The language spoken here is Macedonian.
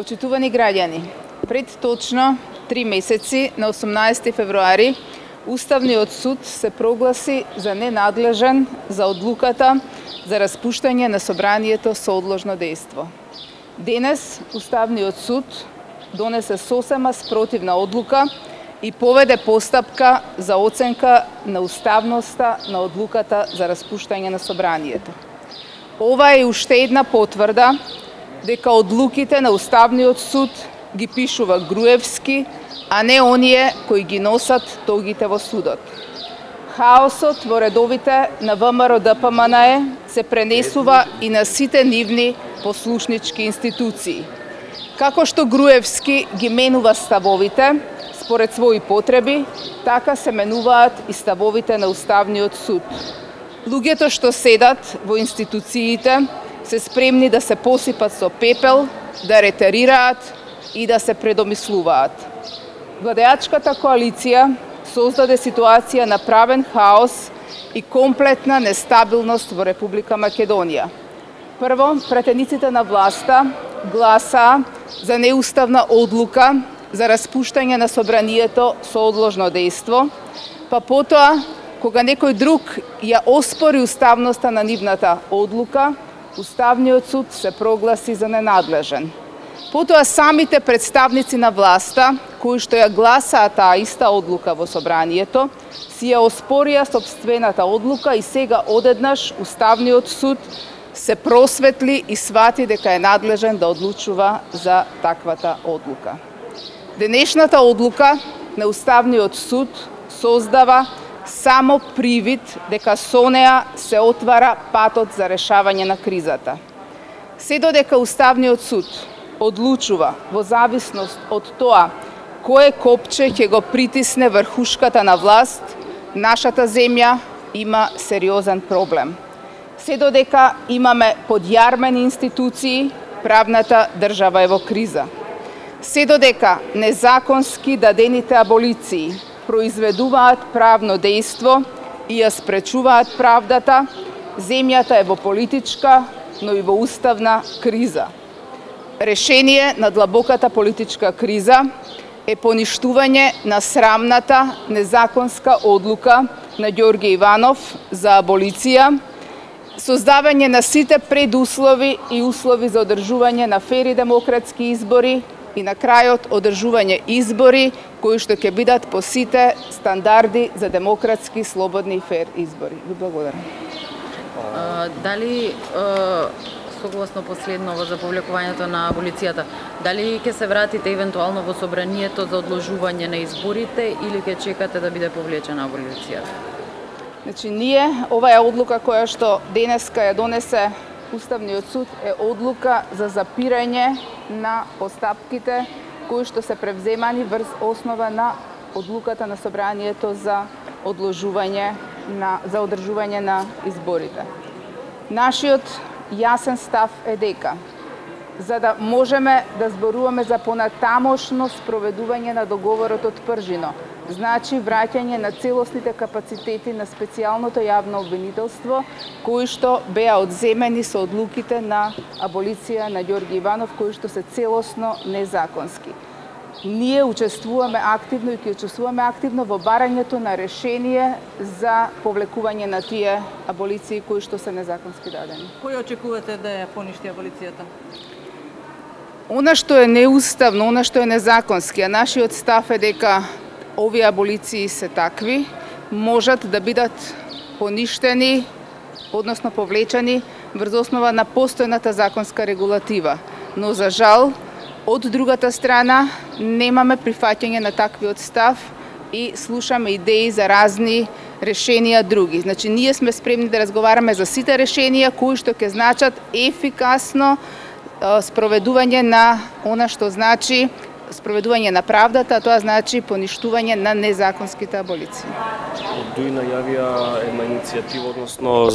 Почитувани граѓани, пред точно 3 месеци, на 18 февруари, Уставниот суд се прогласи за ненадлежен за одлуката за распуштање на собранието со одложно дејство. Денес Уставниот суд донесе сосема спротивна одлука и поведе постапка за оценка на уставноста на одлуката за распуштање на собранието. Ова е уште една потврда дека одлуките на Уставниот суд ги пишува Груевски, а не оние кои ги носат тогите во судот. Хаосот во редовите на ВМРО ДПМНЕ се пренесува и на сите нивни послушнички институции. Како што Груевски ги менува ставовите според своји потреби, така се менуваат и ставовите на Уставниот суд. Луѓето што седат во институциите се спремни да се посипат со пепел, да ретерираат и да се предомислуваат. Владеачката коалиција создаде ситуација на правен хаос и комплетна нестабилност во Република Македонија. Прво, претениците на власта гласаа за неуставна одлука за распуштање на собранието со одложно дејство, па потоа, кога некој друг ја оспори уставноста на нивната одлука, Уставниот суд се прогласи за ненадлежен. Потоа самите представници на власта, кои што ја гласаа таа иста одлука во собранието, си ја оспорија сопствената одлука и сега одеднаш Уставниот суд се просветли и свати дека е надлежен да одлучува за таквата одлука. Денешната одлука на Уставниот суд создава само привид дека со неа се отвара патот за решавање на кризата. Се додека Уставниот суд одлучува во зависност од тоа кое копче ќе го притисне врхушката на власт, нашата земја има сериозен проблем. Се додека имаме подјармени институции, правната држава е во криза. Се додека незаконски дадените аболиции произведуваат правно дејство и ја спречуваат правдата, земјата е во политичка, но и во уставна криза. Решение на длабоката политичка криза е поништување на срамната незаконска одлука на Ѓорѓе Иванов за аболиција, создавање на сите предуслови и услови за одржување на фер и демократски избори и на крајот одржување избори кои што ќе бидат по сите стандарди за демократски, слободни и фер избори. Ви благодарам. Дали согласно последново за повлекувањето на аболицијата, дали ќе се вратите евентуално во собранието за одложување на изборите или ќе чекате да биде повлечена аболицијата? Значи, оваа одлука која што денеска ја донесе Уставниот суд е одлука за запирање на постапките кои што се превземани врз основа на одлуката на собранието за одржување на изборите. Нашиот јасен став е дека за да можеме да зборуваме за понатамошно спроведување на договорот од Пржино, значи враќање на целосните капацитети на специјалното јавно обвинителство, кои што беа одземени со одлуките на аболиција на Ѓорѓе Иванов, кои што се целосно незаконски. Ние учествуваме активно и ќе учествуваме активно во барањето на решение за повлекување на тие аболиции кои што се незаконски дадени. Кој очекувате да ја поништи аболицијата? Она што е неуставно, она што е незаконски, а нашиот став е дека овие аболиции се такви, можат да бидат поништени, односно повлечени врз основа на постојната законска регулатива. Но за жал, од другата страна немаме прифаќање на таквиот став и слушаме идеи за разни решенија други. Значи, ние сме спремни да разговараме за сите решенија кои што ќе значат ефикасно спроведување на она што значи спроведување на правдата, а тоа значи поништување на незаконските аболиции. Од ДУИ најавија една иницијатива, односно